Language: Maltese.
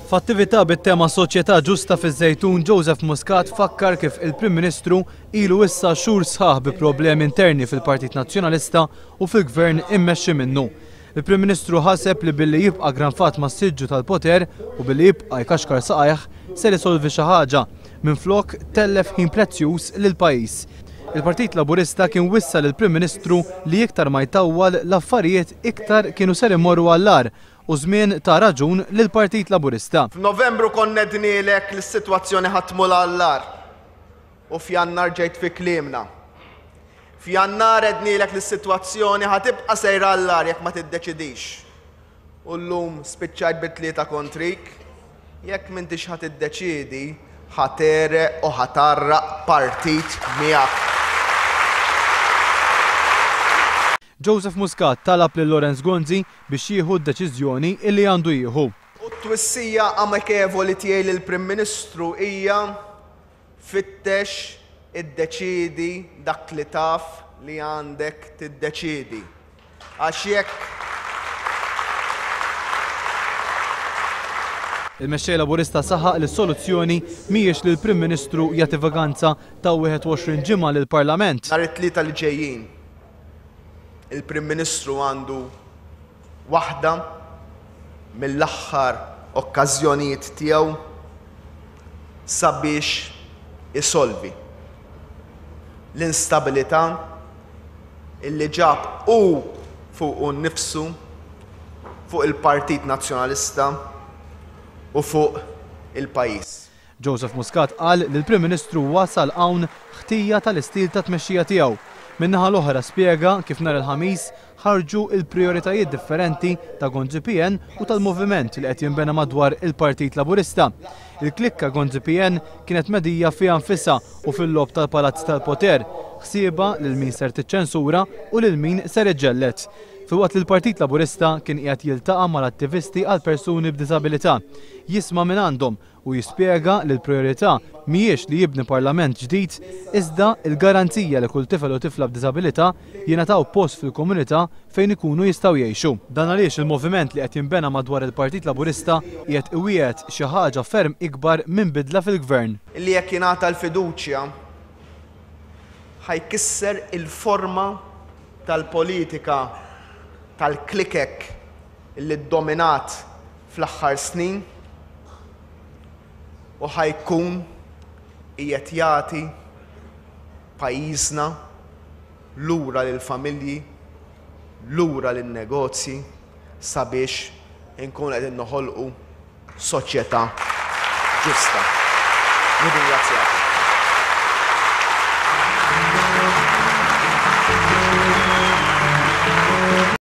F'attività bit-tema Soċjetà Ġusta fiż-Żejtun, Joseph Muscat fakkar kif il-Prim Ministru ilu issa xhur sħaħ bi problemi interni fil-Partit Nazzjonalista u fil-Gvern immexxi minnu. Il-Prim Ministru ħaseb li billi jibqa' granfat mas-siġġu tal-poter u billi jibqa' jkaxkar saqajh ser isolvi xi ħaġa, minflok tellef ħin prezzjuż lill-pajjiż. Il-Partit Laburista kien wissa lill-Prim Ministru li iktar ma jtawwal l-affarijiet iktar kienu ser imorru għall-agħar u żmien ta raġun lill-Partit Laburista. F'Novembru konna għednielek li s-sitwazzjoni ħa tmur għall-agħar u f'Jannar ġejt fi kliemna. F'Jannar għednielek li s-sitwazzjoni ħa tibqa' sejra għall-agħar jekk ma tiddeċidix. U llum spiċċajt bi tlieta kontrik. Jekk m'intix ħa tiddeċiedi, ħa tegħreq u ħa tgħarraq partit miegħek. Joseph Muscat talab lil Lawrence Gonzi biex jieħu d-deċiżjoni illi għandu jieħu. U t-twissija amikevoli tiegħi lill-Prim Ministru hija, fittex, iddeċiedi dak li taf li għandek tiddeċiedi. Għax jekk. Il-Mexxej Laburista saħaq li s-soluzzjoni mhijiex li l-Prim Ministru jagħti vaganza ta' 21 ġimgħa lill-Parlament. Nhar it-Tlieta li ġejjin, il-Prim Ministru għandu waħda mill-aħħar okkażjonijiet tiegħu sabiex isolvi l-instabilità illi ġab hu fuqu nnifsu, fuq il-Partit Nazzjonalista u fuq il-pajjiż. Joseph Muscat qal li l-Prim Ministru wasal hawn ħtija tal-istil ta' tmexxija tiegħu. Min-naħa l-oħra spjega kif nhar il-Ħamis ħarġu l-prijoritajiet differenti ta' Gonzi PN u tal-moviment li qed jinbena madwar il-Partit Laburista. Il-klikka Gonzi PN kienet medija fiha nfisha u fil-logħob tal-palazz tal-poter, ħsiebha lil min ser tiċċensura u lil min ser iġġelled. Filwaqt li l-Partit Laburista kien qiegħed jiltaqa' mal-attivisti għal persuni b'diżabilità, jisma' mingħandhom u jispjega li l-prijorità mhijiex li jibni parlament ġdid iżda l-garanzija li kull tifel u tifla b'diżabilità jingħataw post fil-komunità fejn ikunu jistgħu jgħixu. Dan għaliex il-moviment li qed jinbena madwar il-Partit Laburista qiegħed iwiegħed xi ħaġa ferm ikbar minn bidla fil-Gvern. Li jekk jingħata l-fiduċja ħa jkisser il-forma tal-politika tal-klikek li ddominat fl-aħħar snin u ħa jkun qiegħed jagħti pajjiżna lura lill-familji, lura lin-negozji sabiex inkunu qegħdin noħolqu soċjetà ġusta. Nirringrazzjakom.